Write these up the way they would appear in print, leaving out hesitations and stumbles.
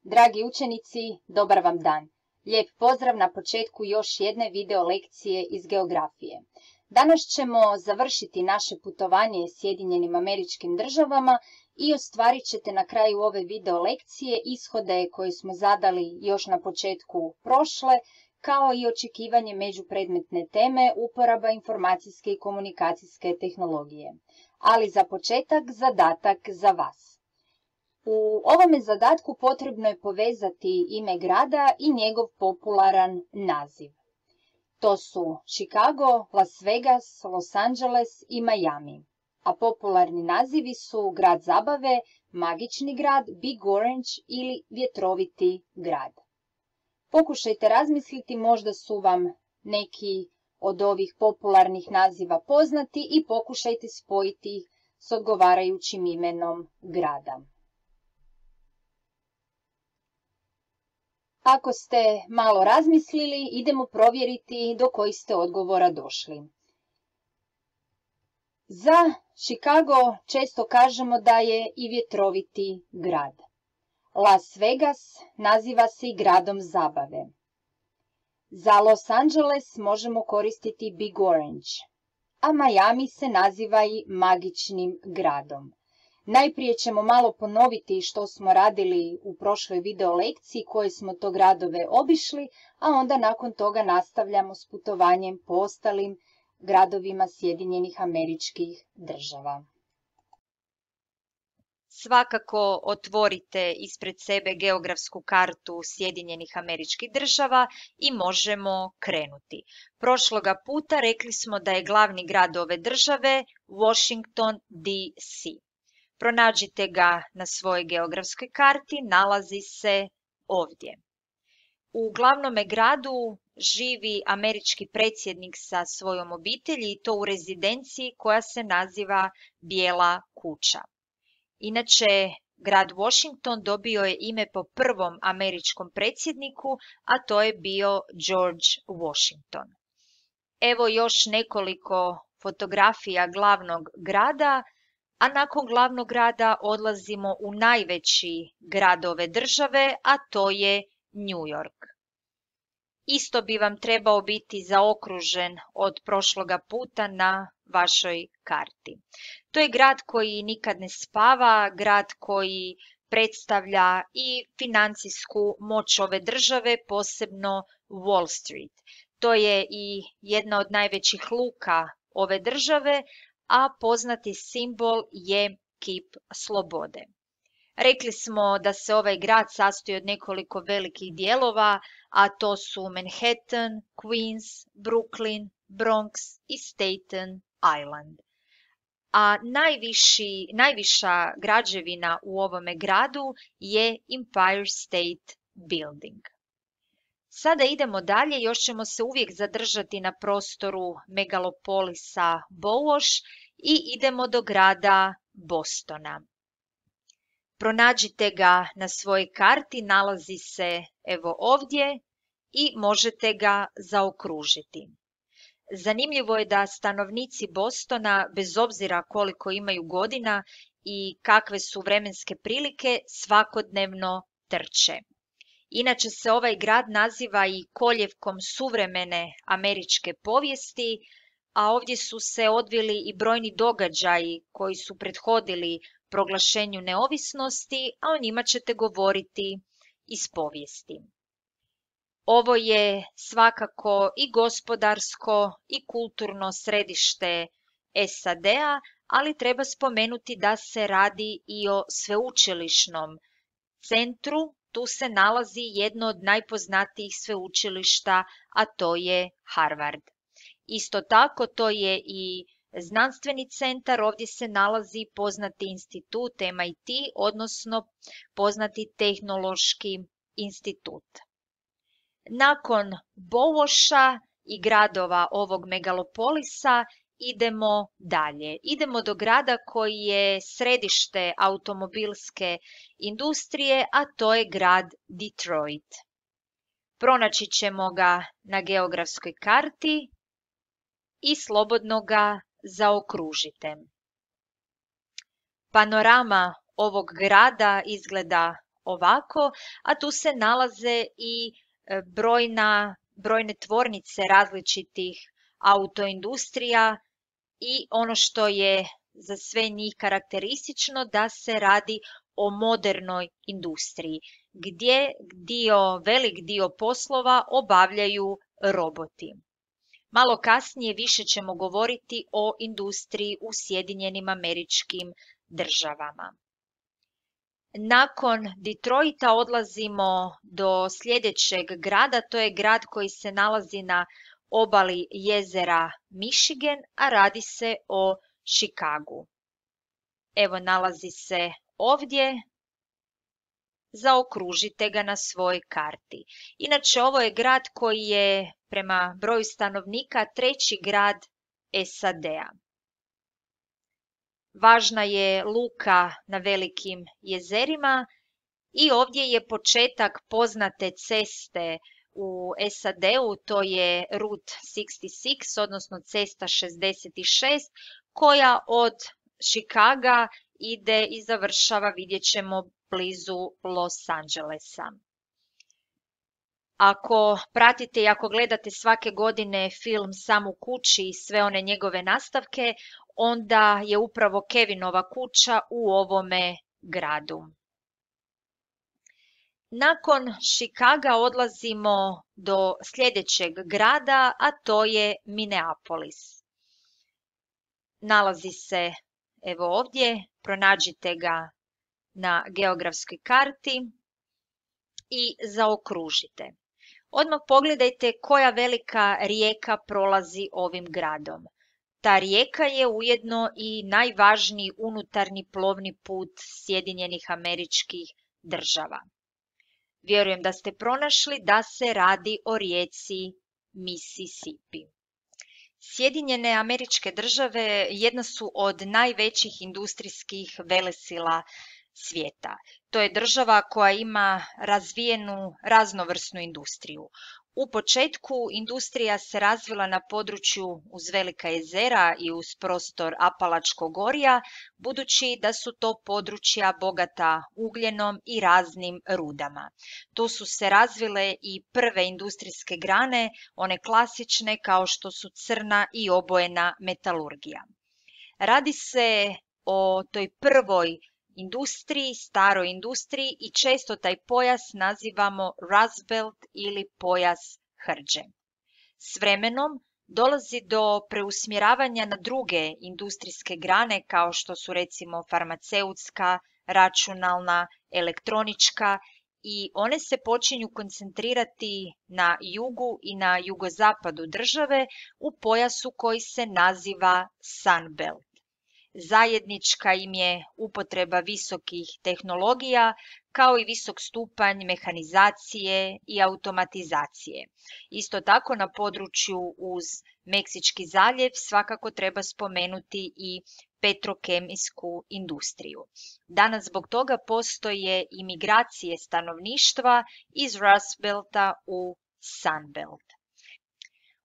Dragi učenici, dobar vam dan. Lijep pozdrav na početku još jedne video lekcije iz geografije. Danas ćemo završiti naše putovanje Sjedinjenim Američkim Državama i ostvarit ćete na kraju ove video lekcije ishode koje smo zadali još na početku prošle, kao i očekivanje međupredmetne teme uporaba informacijske i komunikacijske tehnologije. Ali za početak zadatak za vas. U ovome zadatku potrebno je povezati ime grada i njegov popularan naziv. To su Chicago, Las Vegas, Los Angeles i Miami. A popularni nazivi su grad zabave, magični grad, Big Orange ili vjetroviti grad. Pokušajte razmisliti, možda su vam neki od ovih popularnih naziva poznati i pokušajte spojiti ih s odgovarajućim imenom grada. Ako ste malo razmislili, idemo provjeriti do kojih ste odgovora došli. Za Chicago često kažemo da je i vjetroviti grad. Las Vegas naziva se i gradom zabave. Za Los Angeles možemo koristiti Big Orange, a Miami se naziva i magičnim gradom. Najprije ćemo malo ponoviti što smo radili u prošloj video lekciji, koje smo to gradove obišli, a onda nakon toga nastavljamo s putovanjem po ostalim gradovima Sjedinjenih Američkih Država. Svakako otvorite ispred sebe geografsku kartu Sjedinjenih Američkih Država i možemo krenuti. Prošloga puta rekli smo da je glavni grad ove države Washington DC. Pronađite ga na svojoj geografskoj karti, nalazi se ovdje. U glavnome gradu živi američki predsjednik sa svojom obitelji i to u rezidenciji koja se naziva Bijela kuća. Inače, grad Washington dobio je ime po prvom američkom predsjedniku, a to je bio George Washington. Evo još nekoliko fotografija glavnog grada, a nakon glavnog grada odlazimo u najveći grad ove države, a to je New York. Isto bi vam trebao biti zaokružen od prošloga puta na vašoj karti. To je grad koji nikad ne spava, grad koji predstavlja i financijsku moć ove države, posebno Wall Street. To je i jedna od najvećih luka ove države, a poznati simbol je kip slobode. Rekli smo da se ovaj grad sastoji od nekoliko velikih dijelova, a to su Manhattan, Queens, Brooklyn, Bronx i Staten Island. A najviša građevina u ovome gradu je Empire State Building. Sada idemo dalje, još ćemo se uvijek zadržati na prostoru megalopolisa Bowosh i idemo do grada Bostona. Pronađite ga na svojoj karti, nalazi se evo ovdje i možete ga zaokružiti. Zanimljivo je da stanovnici Bostona, bez obzira koliko imaju godina i kakve su vremenske prilike, svakodnevno trče. Inače se ovaj grad naziva i koljevkom suvremene američke povijesti, a ovdje su se odvili i brojni događaji koji su prethodili proglašenju neovisnosti, a o njima ćete govoriti iz povijesti. Ovo je svakako i gospodarsko i kulturno središte SAD-a, ali treba spomenuti da se radi i o sveučilišnom centru. Tu se nalazi jedno od najpoznatijih sveučilišta, a to je Harvard. Isto tako, to je i znanstveni centar, ovdje se nalazi poznati institut MIT, odnosno poznati tehnološki institut. Nakon Bowosha i gradova ovog megalopolisa idemo dalje. Idemo do grada koji je središte automobilske industrije, a to je grad Detroit. Pronaći ćemo ga na geografskoj karti i slobodno ga zaokružite. Panorama ovog grada izgleda ovako, a tu se nalaze i brojne tvornice različitih autoindustrija i ono što je za sve njih karakteristično da se radi o modernoj industriji, gdje velik dio poslova obavljaju roboti. Malo kasnije više ćemo govoriti o industriji u Sjedinjenim Američkim Državama. Nakon Detroita odlazimo do sljedećeg grada, to je grad koji se nalazi na obali jezera Michigan, a radi se o Chicagu. Evo, nalazi se ovdje, zaokružite ga na svojoj karti. Inače, ovo je grad koji je prema broju stanovnika 3. grad SAD-a. Važna je luka na velikim jezerima i ovdje je početak poznate ceste u SAD-u, to je Route 66, odnosno cesta 66, koja od Chicaga ide i završava, vidjet ćemo, blizu Los Angelesa. Ako pratite i ako gledate svake godine film Sam u kući i sve one njegove nastavke, onda je upravo Kevinova kuća u ovome gradu. Nakon Chicaga odlazimo do sljedećeg grada, a to je Minneapolis. Nalazi se, evo ovdje, pronađite ga na geografskoj karti i zaokružite. Odmah pogledajte koja velika rijeka prolazi ovim gradom. Ta rijeka je ujedno i najvažniji unutarnji plovni put Sjedinjenih Američkih Država. Vjerujem da ste pronašli da se radi o rijeci Mississippi. Sjedinjene Američke Države jedna su od najvećih industrijskih velesila svijeta. To je država koja ima razvijenu raznovrsnu industriju. U početku industrija se razvila na području uz velika jezera i uz prostor Apalačkog gorja, budući da su to područja bogata ugljenom i raznim rudama. Tu su se razvile i prve industrijske grane, one klasične kao što su crna i obojena metalurgija. Radi se o toj prvoj industriji, staroj industriji, i često taj pojas nazivamo Rust Belt ili pojas hrđe. S vremenom dolazi do preusmjeravanja na druge industrijske grane kao što su recimo farmaceutska, računalna, elektronička, i one se počinju koncentrirati na jugu i na jugozapadu države u pojasu koji se naziva Sun Belt. Zajednička im je upotreba visokih tehnologija kao i visok stupanj mehanizacije i automatizacije. Isto tako na području uz Meksički zaljev svakako treba spomenuti i petrokemijsku industriju. Danas zbog toga postoje i migracije stanovništva iz Rust Belta u Sun Belt.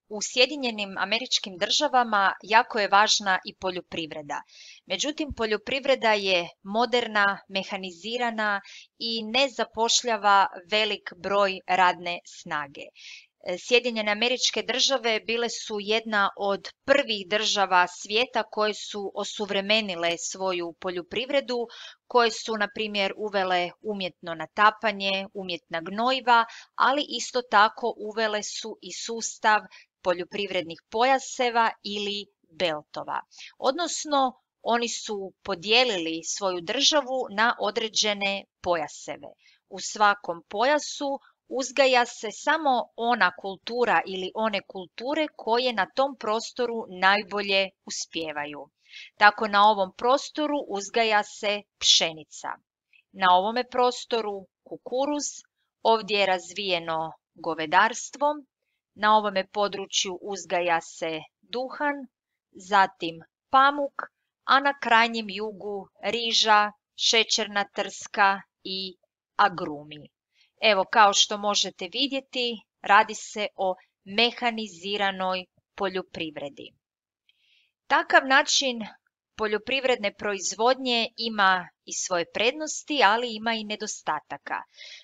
U Sjedinjenim Američkim Državama jako je važna i poljoprivreda. Međutim, poljoprivreda je moderna, mehanizirana i ne zapošljava velik broj radne snage. Sjedinjene Američke Države bile su jedna od prvih država svijeta koje su osuvremenile svoju poljoprivredu, koje su, na primjer, uvele umjetno natapanje, umjetna gnojiva, ali isto tako uvele su i sustav poljoprivrednih pojaseva ili beltova. Odnosno, oni su podijelili svoju državu na određene pojaseve. U svakom pojasu uzgaja se samo ona kultura ili one kulture koje na tom prostoru najbolje uspijevaju. Tako na ovom prostoru uzgaja se pšenica. Na ovome prostoru kukuruz, ovdje je razvijeno govedarstvo, na ovome području uzgaja se duhan, zatim pamuk, a na krajnjem jugu riža, šećerna trska i agrumi. Evo, kao što možete vidjeti, radi se o mehaniziranoj poljoprivredi. Takav način poljoprivredne proizvodnje ima i svoje prednosti, ali ima i nedostataka.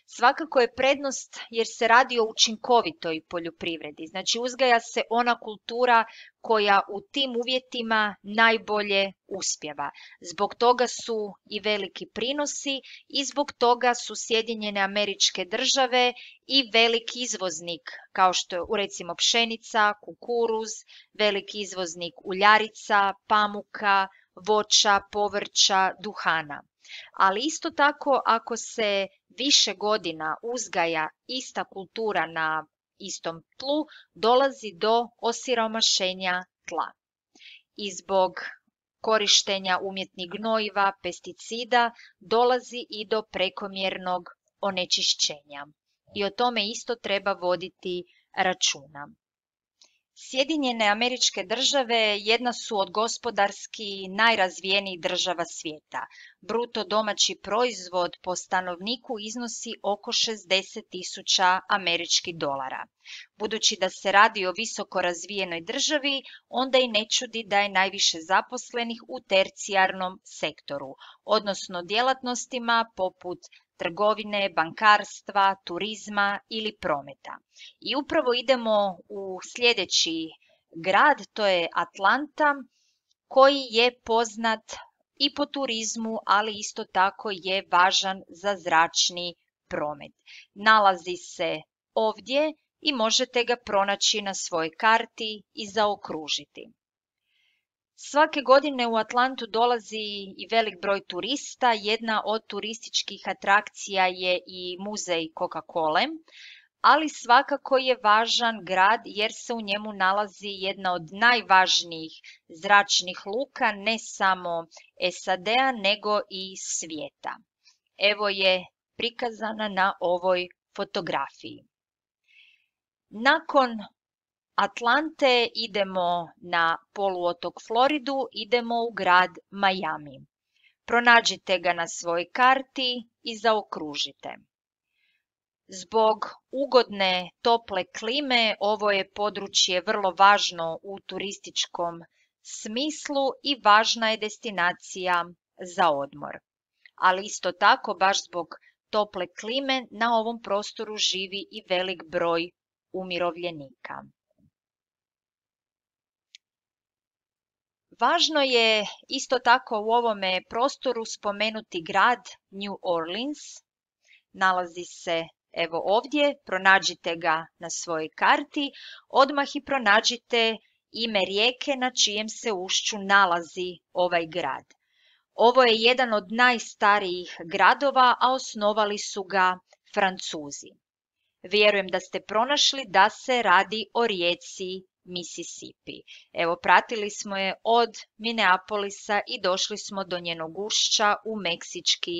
Svakako je prednost jer se radi o učinkovitoj poljoprivredi. Znači uzgaja se ona kultura koja u tim uvjetima najbolje uspijeva. Zbog toga su i veliki prinosi i zbog toga su Sjedinjene Američke Države i veliki izvoznik, kao što je recimo pšenica, kukuruz, veliki izvoznik uljarica, pamuka, voća, povrća, duhana. Ali isto tako ako se više godina uzgaja ista kultura na istom tlu, dolazi do osiromašenja tla. I zbog korištenja umjetnih gnojiva, pesticida, dolazi i do prekomjernog onečišćenja. I o tome isto treba voditi računa. Sjedinjene Američke Države jedna su od gospodarski najrazvijenijih država svijeta. Bruto domaći proizvod po stanovniku iznosi oko 60.000 američkih dolara. Budući da se radi o visoko razvijenoj državi, onda i ne čudi da je najviše zaposlenih u tercijarnom sektoru, odnosno djelatnostima poput trgovine, bankarstva, turizma ili prometa. I upravo idemo u sljedeći grad, to je Atlanta, koji je poznat i po turizmu, ali isto tako je važan za zračni promet. Nalazi se ovdje i možete ga pronaći na svojoj karti i zaokružiti. Svake godine u Atlantu dolazi i velik broj turista. Jedna od turističkih atrakcija je i muzej Coca-Cole, ali svakako je važan grad jer se u njemu nalazi jedna od najvažnijih zračnih luka ne samo SAD-a nego i svijeta. Evo je prikazana na ovoj fotografiji. Nakon Atlante idemo na poluotok Floridu, idemo u grad Miami. Pronađite ga na svojoj karti i zaokružite. Zbog ugodne tople klime ovo je područje vrlo važno u turističkom smislu i važna je destinacija za odmor. Ali isto tako, baš zbog tople klime, na ovom prostoru živi i velik broj umirovljenika. Važno je isto tako u ovome prostoru spomenuti grad New Orleans. Nalazi se evo ovdje, pronađite ga na svojoj karti, odmah i pronađite ime rijeke na čijem se ušću nalazi ovaj grad. Ovo je jedan od najstarijih gradova, a osnovali su ga Francuzi. Vjerujem da ste pronašli da se radi o rijeci Mississippi. Evo, pratili smo je od Minneapolisa i došli smo do njenog ušća u Meksički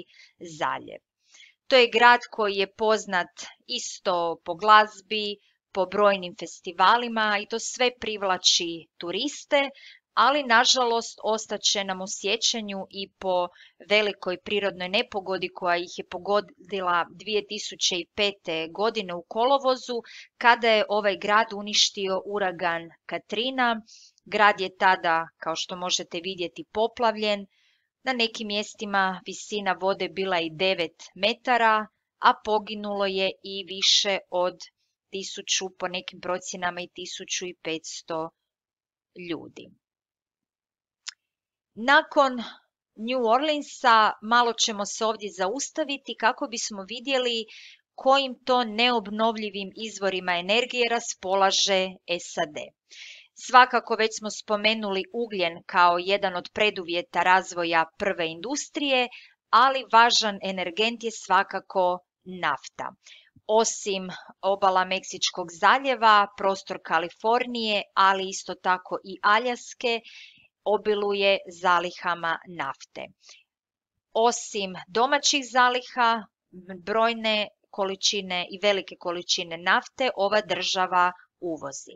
zaljev. To je grad koji je poznat isto po glazbi, po brojnim festivalima i to sve privlači turiste, ali nažalost ostaće nam u sjećanju i po velikoj prirodnoj nepogodi koja ih je pogodila 2005. godine u kolovozu, kada je ovaj grad uništio uragan Katrina. Grad je tada, kao što možete vidjeti, poplavljen. Na nekim mjestima visina vode bila i 9 metara, a poginulo je i više od 1000, po nekim procjenama i 1500 ljudi. Nakon New Orleansa malo ćemo se ovdje zaustaviti kako bismo vidjeli kojim to neobnovljivim izvorima energije raspolaže SAD. Svakako već smo spomenuli ugljen kao jedan od preduvjeta razvoja prve industrije, ali važan energent je svakako nafta. Osim obala Meksičkog zaljeva, prostor Kalifornije, ali isto tako i Aljaske, obiluje zalihama nafte. Osim domaćih zaliha, brojne količine i velike količine nafte ova država uvozi.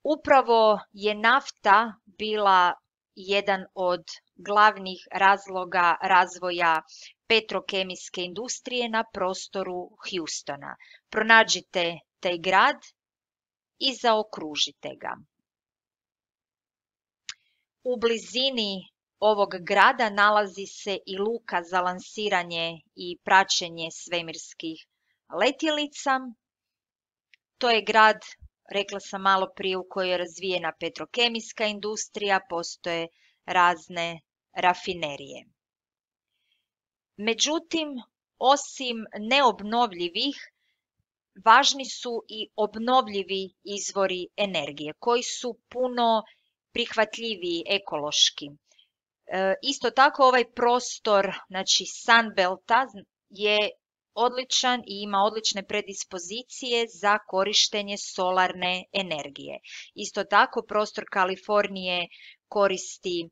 Upravo je nafta bila jedan od glavnih razloga razvoja petrokemijske industrije na prostoru Houstona. Pronađite taj grad i zaokružite ga. U blizini ovog grada nalazi se i luka za lansiranje i praćenje svemirskih letjelica. To je grad, rekla sam malo prije, u kojoj je razvijena petrokemijska industrija, postoje razne rafinerije. Međutim, osim neobnovljivih, važni su i obnovljivi izvori energije, koji su puno prihvatljiviji ekološki. Isto tako ovaj prostor, znači Sunbelta, je odličan i ima odlične predispozicije za korištenje solarne energije. Isto tako prostor Kalifornije koristi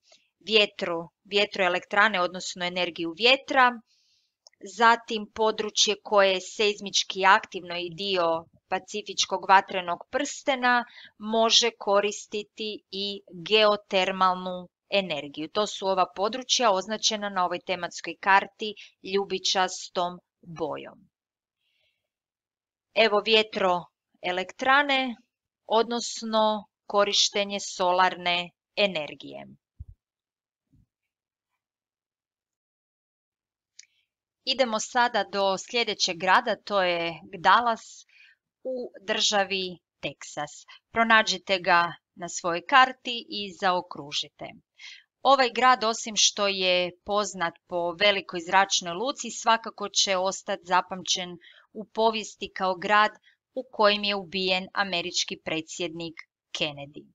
vjetroelektrane, odnosno energiju vjetra. Zatim područje koje je seizmički aktivno i dio Pacifičkog vatrenog prstena može koristiti i geotermalnu energiju. To su ova područja označena na ovoj tematskoj karti ljubičastom bojom. Evo vjetroelektrane, odnosno korištenje solarne energije. Idemo sada do sljedećeg grada, to je Dallas u državi Teksas. Pronađite ga na svojoj karti i zaokružite. Ovaj grad, osim što je poznat po velikoj zračnoj luci, svakako će ostati zapamćen u povijesti kao grad u kojem je ubijen američki predsjednik Kennedy.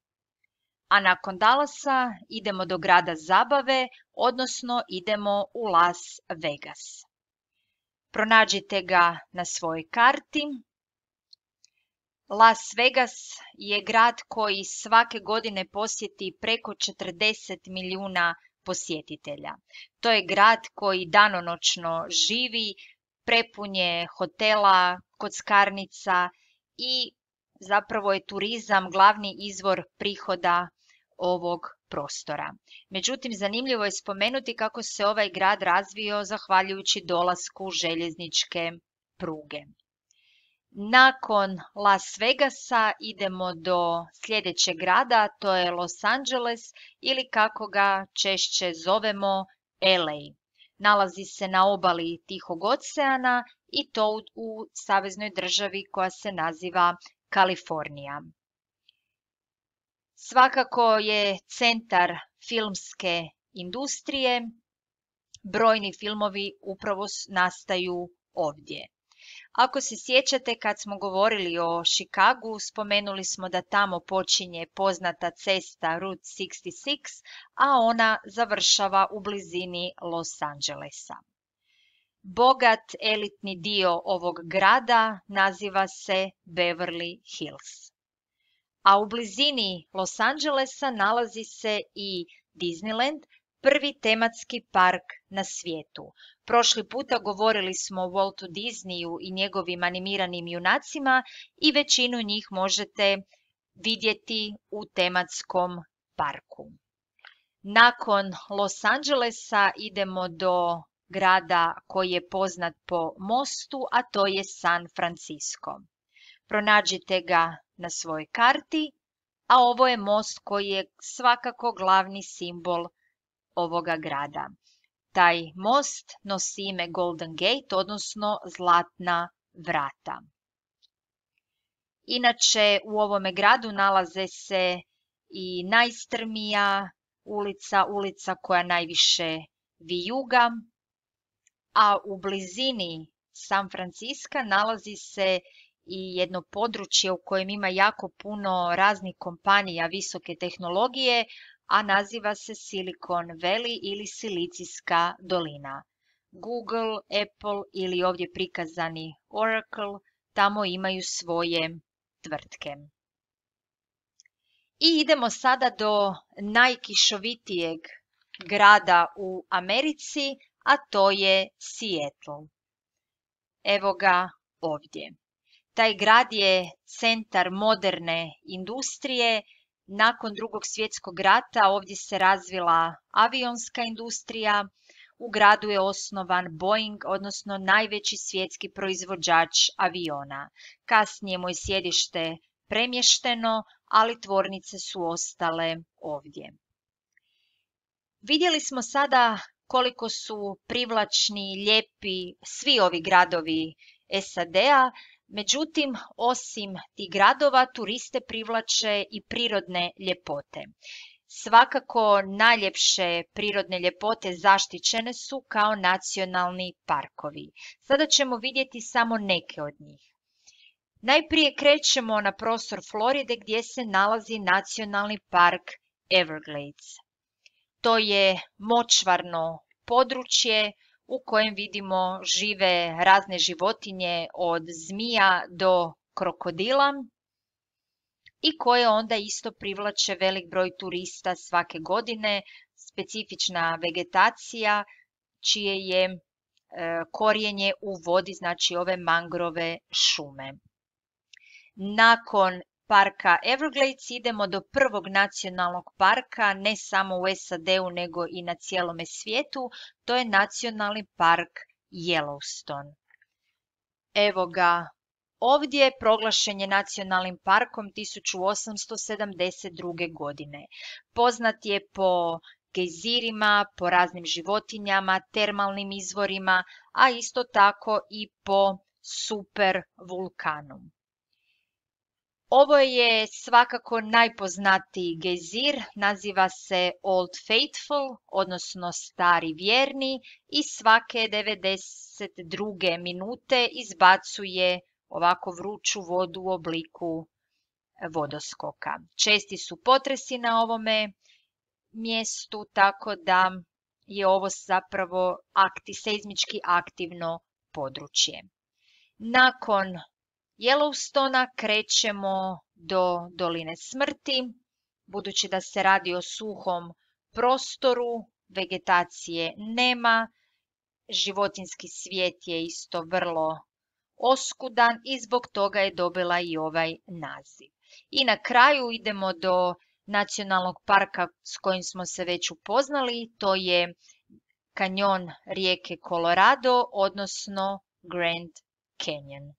A nakon Dallasa idemo do grada zabave, odnosno idemo u Las Vegas. Pronađite ga na svojoj karti. Las Vegas je grad koji svake godine posjeti preko 40 milijuna posjetitelja. To je grad koji danonoćno živi, prepun je hotela, kockarnica i zapravo je turizam glavni izvor prihoda ovog prostora. Međutim, zanimljivo je spomenuti kako se ovaj grad razvio zahvaljujući dolasku željezničke pruge. Nakon Las Vegasa idemo do sljedećeg grada, to je Los Angeles ili kako ga češće zovemo LA. Nalazi se na obali Tihog oceana i to u saveznoj državi koja se naziva Kalifornija. Svakako je centar filmske industrije, brojni filmovi upravo nastaju ovdje. Ako se sjećate, kad smo govorili o Chicagu, spomenuli smo da tamo počinje poznata cesta Route 66, a ona završava u blizini Los Angelesa. Bogat elitni dio ovog grada naziva se Beverly Hills. A u blizini Los Angelesa nalazi se i Disneyland, prvi tematski park na svijetu. Prošli puta govorili smo o Waltu Disneyu i njegovim animiranim junacima i većinu njih možete vidjeti u tematskom parku. Nakon Los Angelesa idemo do grada koji je poznat po mostu, a to je San Francisco. Pronađite ga na svojoj karti, a ovo je most koji je svakako glavni simbol ovoga grada. Taj most nosi ime Golden Gate, odnosno Zlatna vrata. Inače, u ovome gradu nalaze se i najstrmija ulica koja najviše vijuga, a u blizini San Francisca nalazi se i jedno područje u kojem ima jako puno raznih kompanija visoke tehnologije, a naziva se Silicon Valley ili Silicijska dolina. Google, Apple ili ovdje prikazani Oracle tamo imaju svoje tvrtke. I idemo sada do najkišovitijeg grada u Americi, a to je Seattle. Evo ga ovdje. Taj grad je centar moderne industrije. Nakon Drugog svjetskog rata ovdje se razvila avionska industrija. U gradu je osnovan Boeing, odnosno najveći svjetski proizvođač aviona. Kasnije mu je sjedište premješteno, ali tvornice su ostale ovdje. Vidjeli smo sada koliko su privlačni, lijepi svi ovi gradovi SAD-a, međutim, osim tih gradova, turiste privlače i prirodne ljepote. Svakako najljepše prirodne ljepote zaštićene su kao nacionalni parkovi. Sada ćemo vidjeti samo neke od njih. Najprije krećemo na prostor Floride gdje se nalazi nacionalni park Everglades. To je močvarno područje u kojem vidimo žive razne životinje od zmija do krokodila i koje onda isto privlače velik broj turista svake godine, specifična vegetacija čije je korijenje u vodi, znači ove mangrove šume. Nakon parka Everglades idemo do prvog nacionalnog parka, ne samo u SAD-u nego i na cijelome svijetu, to je nacionalni park Yellowstone. Evo ga ovdje, proglašen je nacionalnim parkom 1872. godine. Poznat je po gejzirima, po raznim životinjama, termalnim izvorima, a isto tako i po super vulkanu. Ovo je svakako najpoznatiji gejzir, naziva se Old Faithful, odnosno Stari vjerni, i svake 92. minute izbacuje ovako vruću vodu u obliku vodoskoka. Česti su potresi na ovome mjestu, tako da je ovo zapravo seizmički aktivno područje. Nakon Yellowstona krećemo do Doline smrti, budući da se radi o suhom prostoru, vegetacije nema, životinjski svijet je isto vrlo oskudan i zbog toga je dobila i ovaj naziv. I na kraju idemo do nacionalnog parka s kojim smo se već upoznali, to je kanjon rijeke Colorado, odnosno Grand Canyon.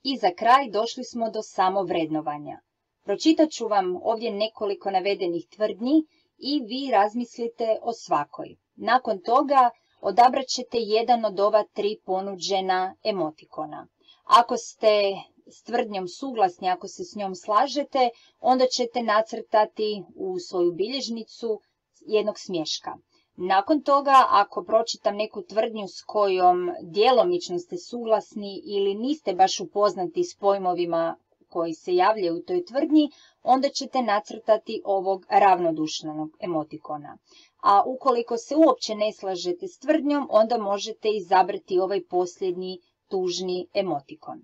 I za kraj došli smo do samovrednovanja. Pročitat ću vam ovdje nekoliko navedenih tvrdnji i vi razmislite o svakoj. Nakon toga odabrat ćete jedan od ova 3 ponuđena emotikona. Ako ste s tvrdnjom suglasni, ako se s njom slažete, onda ćete nacrtati u svoju bilježnicu jednog smješka. Nakon toga, ako pročitam neku tvrdnju s kojom djelomično ste suglasni ili niste baš upoznati s pojmovima koji se javljaju u toj tvrdnji, onda ćete nacrtati ovog ravnodušnog emotikona. A ukoliko se uopće ne slažete s tvrdnjom, onda možete izabrati ovaj posljednji tužni emotikon.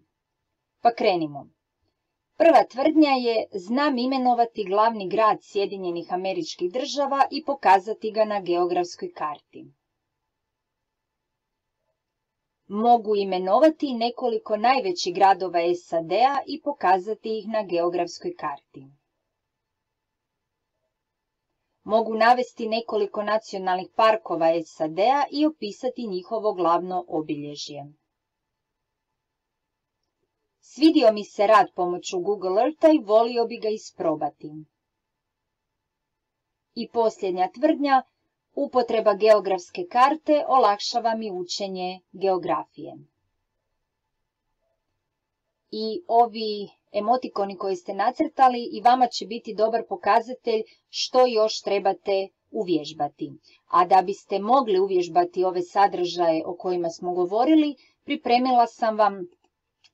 Pa krenimo. Prva tvrdnja je: znam imenovati glavni grad Sjedinjenih Američkih Država i pokazati ga na geografskoj karti. Mogu imenovati nekoliko najvećih gradova SAD-a i pokazati ih na geografskoj karti. Mogu navesti nekoliko nacionalnih parkova SAD-a i opisati njihovo glavno obilježje. Svidio mi se rad pomoću Google Eartha i volio bi ga isprobati. I posljednja tvrdnja: upotreba geografske karte olakšava mi učenje geografije. I ovi emotikoni koji ste nacrtali i vama će biti dobar pokazatelj što još trebate uvježbati. A da biste mogli uvježbati ove sadržaje o kojima smo govorili, pripremila sam vam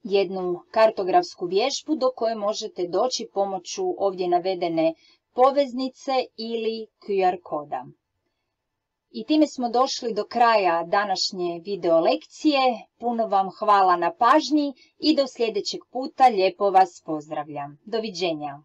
jednu kartografsku vježbu do koje možete doći pomoću ovdje navedene poveznice ili QR koda. I time smo došli do kraja današnje video lekcije. Puno vam hvala na pažnji i do sljedećeg puta lijepo vas pozdravljam. Doviđenja!